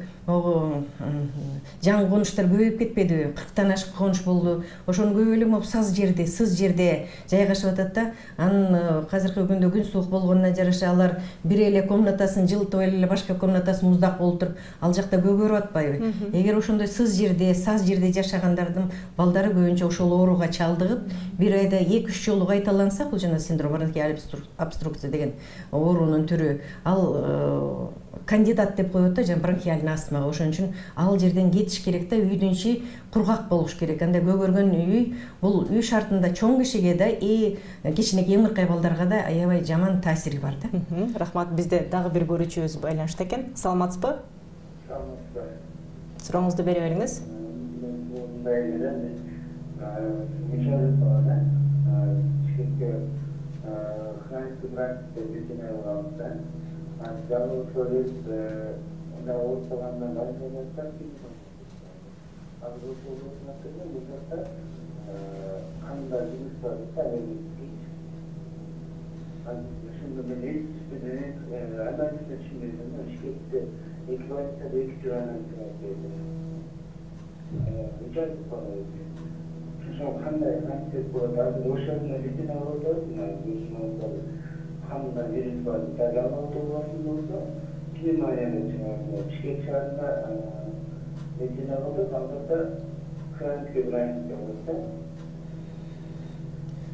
жаңы конуштар көбөйүп кетпедиби? 40тан ашык конуш болду. Ошону көп эле могу сыз жерде жайгашып атат да. Анын азыркы күндө күн суук болгонуна жараша алар бир эле комнатасын жылытып эле башка комнатасы муздак болуп туруп, ал жакта көгөрүп атпайбы? Эгер ошондой сыз жерде жашагандардын балдары көбүнчө ошол ооруга чалдыгып, бир айда 2-3 жолу кайталанса, бул жана синдром бронхиальной обструкция деген оорунун түрү. Ал кандидат деп коет да, жана бронхиальный астмага. Ошон үчүн ал жерден кетиш керек да, үйдүн ичи кургак болуш керек. Анда көгөргөн үй бул үй шартында чоң кишиге да кичинекей ымыркай балдарга да аябай жаман таасири бар да. Рахмат. Бизде дагы бир көрүүчүбүз байланышта экен. Саламатсызбы? Сурооңузду бере бериңиз.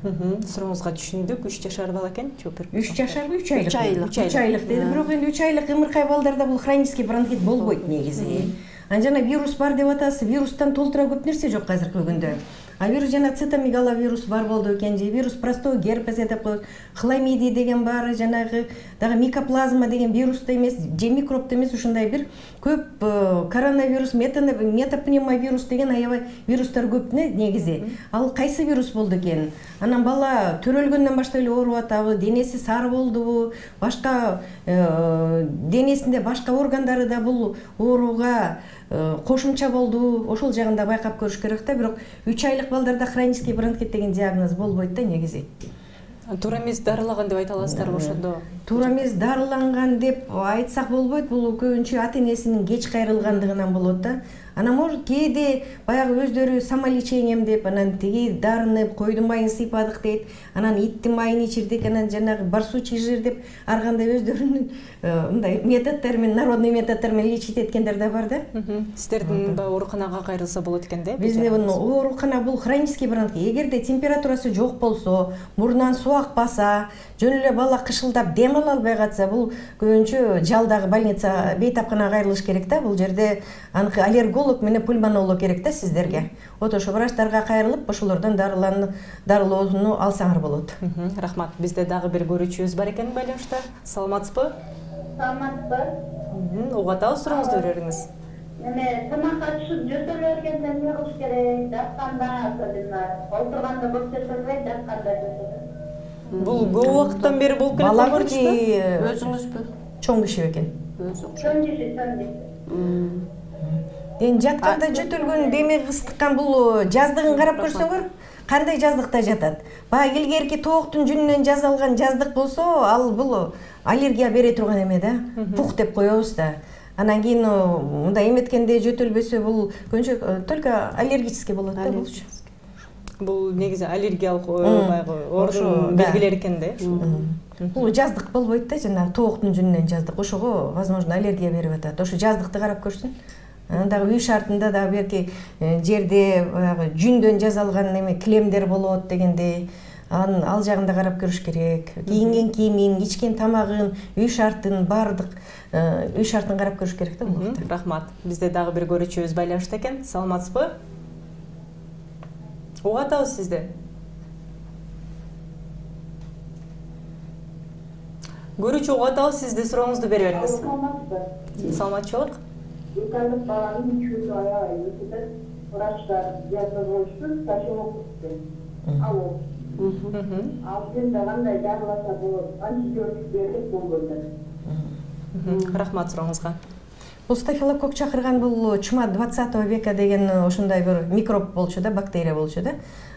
Сурооңузга түшүндүк. 3 жашар бала экен, жооп берип. 3 жашарбы, 3 айлык? 3 айлык. 3 айлык деди. Бирок энди 3 айлык ымыркай балдарда бул хронический бронхит болбойт негизи. Жана вирус бар деп атасыз, вирустан толтура көп нерсе жок азыркы күндө. А вирус жана цитомегаловирус бар болду экен, же вирус простой герпес деп коет, хламидий деген бар, жанагы дагы микоплазма деген вирус да эмес, же микроб да эмес, ушундай бир көп коронавирус, метапневмовирус деген аябай вирустар көп негизи. Ал кайсы вирус болду экен? Анан бала төрөлгөндөн баштап эле ооруп атабы, денеси сары болдубу, башка денесинде башка органдары да бул ооруга кошумча болду, ошол жагында байкап көрүш керек да. Бирок 3 айлык балдарда хронический бронхит деген диагноз болбойт да негизи. Туура эмес дарылаган деп айта аласыздарбы ошондо? Туура эмес дарыланган деп айтсак болбойт, бул көбүнчө ата энесинин кеч кайрылгандыгынан болот да. Анан может кээде баягы өздөрү самолечением деп, анан тиги дарыны койдун майын сыйпадык дейт, анан иттин майын ичирдик, анан жанагы барсучий жир деп ар кандай өздөрүнүн мындай методдор менен, народный методдор менен лечить эткендер да бар да. Сиздердин ооруканага кайрылса болот экен да? Бизде оорукана бул хронический бронхит. Эгерде температурасы жок болсо, мурунан суу акпаса, жөн эле бала кышылдап дем ала албай катса, бул көбүнчө жалдагы больница бейтапканага кайрылыш керек да. Бул жерде аныкы аллерголог менен пульмонолог керек да сиздерге. Вот ошо врачтарга кайрылып, ошолордон дарылоону алсаңар болот. Рахмат. Бизде дагы бир көрүүчүбүз бар экен байланышта. Саламатсызбы? Саламатсызбы? Угуп атабыз, сурооңузду бериңиз. Эме тамакка түшүп жөтөлүп бергенде эмне кылыш керек? Жатканда, отурганда көп жөтөлбөй, жатканда жөтөлөт. Бул көп убакыттан бери болуп келе Бала жаткан же Өзүңүзбү? чоң киши экен? Эми жатканда жөтөлгөн, демек ыстыккан бул жаздыгын карап көрсөңөр, кандай жаздыкта жатат? Баягы илгерки тооктун жүнүнөн жасалган жаздык болсо, ал бул аллергия бере турган эме да, пух деп коебуз да. Анан кийин мындай эметкенде жөтөлбөсө, бул көбүнчө только аллергический болот да булчу. Бул негизи аллергиялык баягы оорунун белгилери экен да. Бул жаздык болбойт да, жанагы тооктун жүнүнөн жаздык. Ошого возможно аллергия берип атат. Ошо жаздыкты карап көрсүн. Дагы үй шартында дагы берки жерде баягы жүндөн жасалган эме килемдер болот дегендей, ал жагында карап көрүш керек. Кийинген кийимин, ичкен тамагын, үй шартын, бардык үй шартын карап көрүш керек да бул. Рахмат. Бизде дагы бир көрүүчүбүз байланышта экен. Саламатсызбы? Угуп атабыз сизди. Көрүүчү угуп атабыз, сизди сурооңузду бере бериңиз. Саламатчылык. 2 айлык баланын чүрү аябай өтүп, врачтар диагноз коюшту, стафилококк деп. Ал жерде кандай дарыласа болот, антибиотик берип болгондор. Рахмат сурооңузга. Бул стафилококк чакырган бул чума 20 века деген ошондой бир микроб болчу да, бактерия болчу да.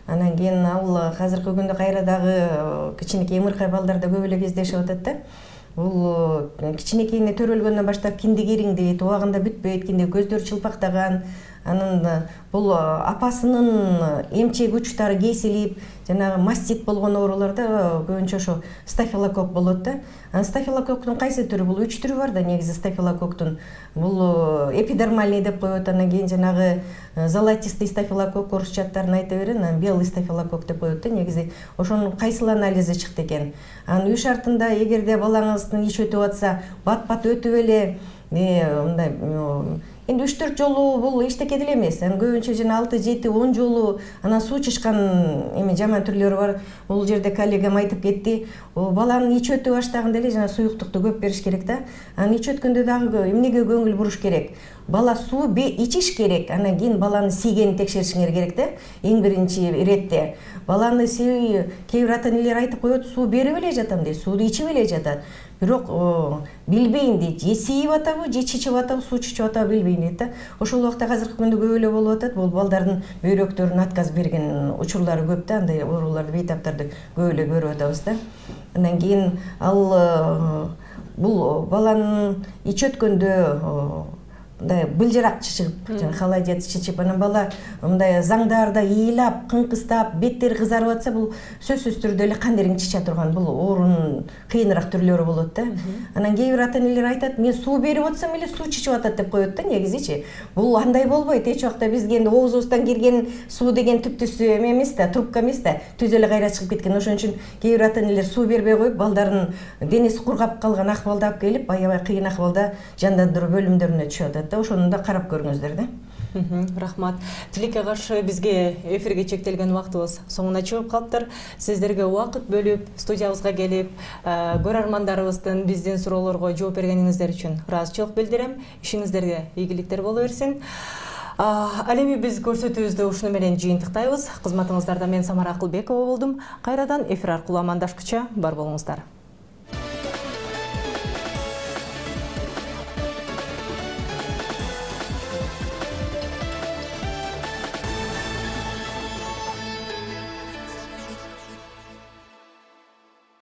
Анан кийин ал азыркы күндө кайра дагы кичинекей ымыркай балдарда көп эле кездешип атат да. Бул кичинекейине төрөлгөндөн баштап киндик ириңдейт, убагында бүтпөйт, кинде көздөр чылпактаган, анан бул апасынын эмчек учтары кесилип, жанагы мастит болгон ооруларда көбүнчө ошо стафилококк болот да. Стафилококктун кайсы түрү? Бул 3 түрү бар да негизи стафилококктун. Бул эпидермальный деп коет, анан кийин жанагы золотистый стафилококк орусча аттарын айта берем, анан белый стафилококк деп коет да. Негизи ошонун кайсыл анализи чыкты экен. Анан үй шартында эгерде балаңыздын ич өтүп атса, бат-бат өтүп эле мындай энди 3-4 жолу бул эчтеке деле эмес. Анан көбүнчө жана 6-7-10 жолу анан суу чычкан эме жаман түрлөрү бар. Бул жерде коллегам айтып кетти. Баланын ич өтүп баштаганда эле жана суюктукту көп бериш керек да. Анан ич өткөндө дагы эмнеге көңүл буруш керек? Бала суу ичиш керек, анан кийин баланын сийгенин текшеришиңер керек да. Эң биринчи иретте. Баланы кээ бир ата энелер айтып коет, суу берип эле жатам дейт, сууну ичип эле жатат. Бирок билбейм дейт, же сийип атабы, же чичип атабы, суу чичип атабы билбейм дейт да. Ошол убакта азыркы күндө көп эле болуп атат. Бул балдардын бөйрөктөрүнө отказ берген учурлары көп да, андай ооруларды, бейтаптарды көп эле көрүп атабыз да. Андан кийин ал бул баланын ич өткөндө мындай былжырак чычып, жана холодец чычып, анан бала мындай заңдарда ыйлап, кыңкыстап, беттери кызарып атса, бул сөзсүз түрдө эле кан дерин чыча турган, бул оорунун кыйыныраак түрлөрү болот да. Анан кээ бир ата-энелер айтат, мен суу берип атсам эле суу чычып атат деп коет да, негизичи. Бул андай болбойт. Эч убакта бизге энди оозубуздан кирген суу деген түптүсү эмес да, трубка эмес да, түз эле кайра чыгып кеткен. Ошон үчүн кээ бир ата-энелер суу бербей коюп, балдарын денеси кургап калган акыбалда алып келип, аябай кыйын акыбалда жандандыруу бөлүмдөрүнө түшүп атат да. Ошону да карап көрүңүздөр да. Рахмат. Тилекке каршы бизге эфирге чектелген убактыбыз соңуна чыгып калыптыр. Сиздерге убакыт бөлүп, студиябызга келип, көрөрмандарыбыздын биздин суроолорго жооп бергениңиздер үчүн ыраазычылык билдирем. Ишиңиздерге ийгиликтер боло берсин. Ал эми биз көрсөтүүбүздү ушуну менен жыйынтыктайбыз. Кызматыңыздарда мен Самара Акылбекова болдум. Кайрадан эфир аркылуу амандашкыча бар болуңуздар.